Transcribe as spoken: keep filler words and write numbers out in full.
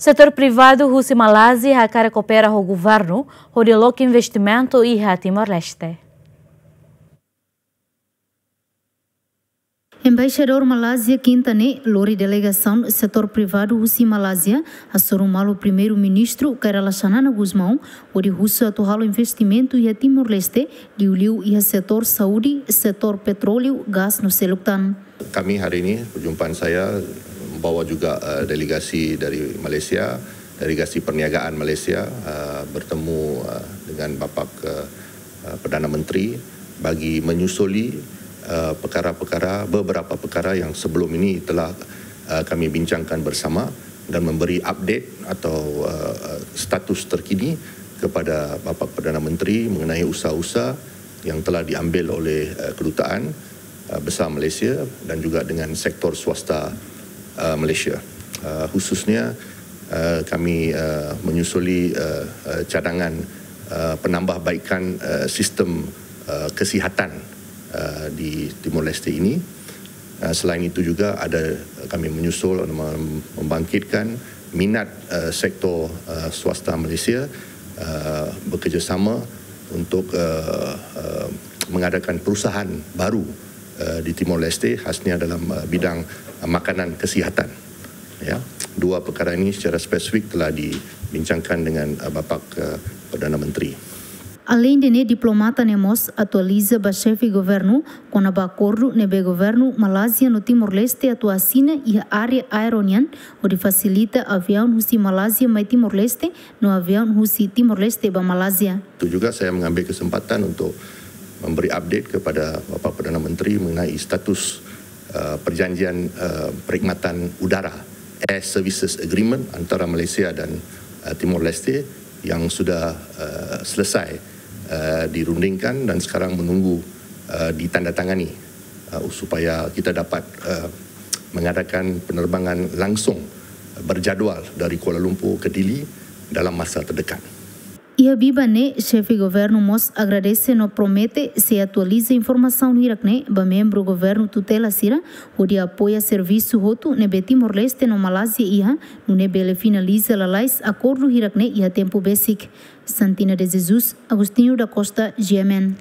Setór privadu husi Malázia hakarak koopera ho governu hodi loke investimentu iha Timor-Leste. Embaixadór Malázia Kinta ne'e lori delegasaun setór privadu husi Malázia, hasoru malu Primeiru-Ministru Kay Rala Xanana Gusmão, hodi husu atu halo investimentu iha Timor-Leste, liuliu iha setór saúde, setór petróleu, gás no seluk tan. Kami hari ini, perjumpaan saya membawa juga, eh, delegasi dari Malaysia, delegasi perniagaan Malaysia, eh, bertemu, eh, dengan Bapak, eh, eh, Perdana Menteri bagi menyusuli, eh, perkara-perkara, beberapa perkara yang sebelum ini telah, eh, kami bincangkan bersama dan memberi update atau, eh, status terkini kepada Bapak Perdana Menteri mengenai usaha-usaha yang telah diambil oleh, eh, Kedutaan, eh, Besar Malaysia dan juga dengan sektor swasta, eh, Malaysia. Eh, khususnya, eh, kami, eh, menyusuli, eh, eh, cadangan, eh, penambahbaikan, eh, sistem, eh, kesihatan, eh, di Timor Leste ini. Eh, selain itu juga ada, kami menyusul, mem-, membangkitkan minat, eh, sektor, eh, swasta Malaysia, eh, bekerjasama untuk, eh, eh, mengadakan perusahaan baru, eh, di Timor Leste, khususnya dalam, eh, bidang, eh, makanan kesihatan. Ya, dua perkara ini secara spesifik telah dibincangkan dengan, eh, Bapak, eh, Perdana Menteri. Aleinde ne'e, diplomata ne'e mós atualiza ba xefe governu kona-ba akordu ne'ebé governu Malázia no Timor-Leste atu asina iha área aéreu nian, hodi fasilita aviaun husi Malázia mai Timor-Leste no aviaun husi Timor-Leste ba Malázia. Itu juga saya mengambil kesempatan untuk memberi update kepada Bapak Perdana Menteri mengenai status, eh, perjanjian, eh, perkhidmatan udara, Air Services Agreement, antara Malaysia dan, eh, Timor-Leste yang sudah, eh, selesai, eh, dirundingkan dan sekarang menunggu, eh, ditandatangani, eh, supaya kita dapat, eh, mengadakan penerbangan langsung, eh, berjadual dari Kuala Lumpur ke Dili dalam masa terdekat. Iha biban ne'e, xefe governu mós agradese no promete sei atualiza informasaun hirak ne'e ba membru governu tutela sira, hodi apoia servisu hotu ne'ebé Timor-Leste no Malázia iha, nune'e bele finaliza lalais akordu hirak ne'e iha tempu besik. Santina de Jesus, Agostinho da Costa, G M N.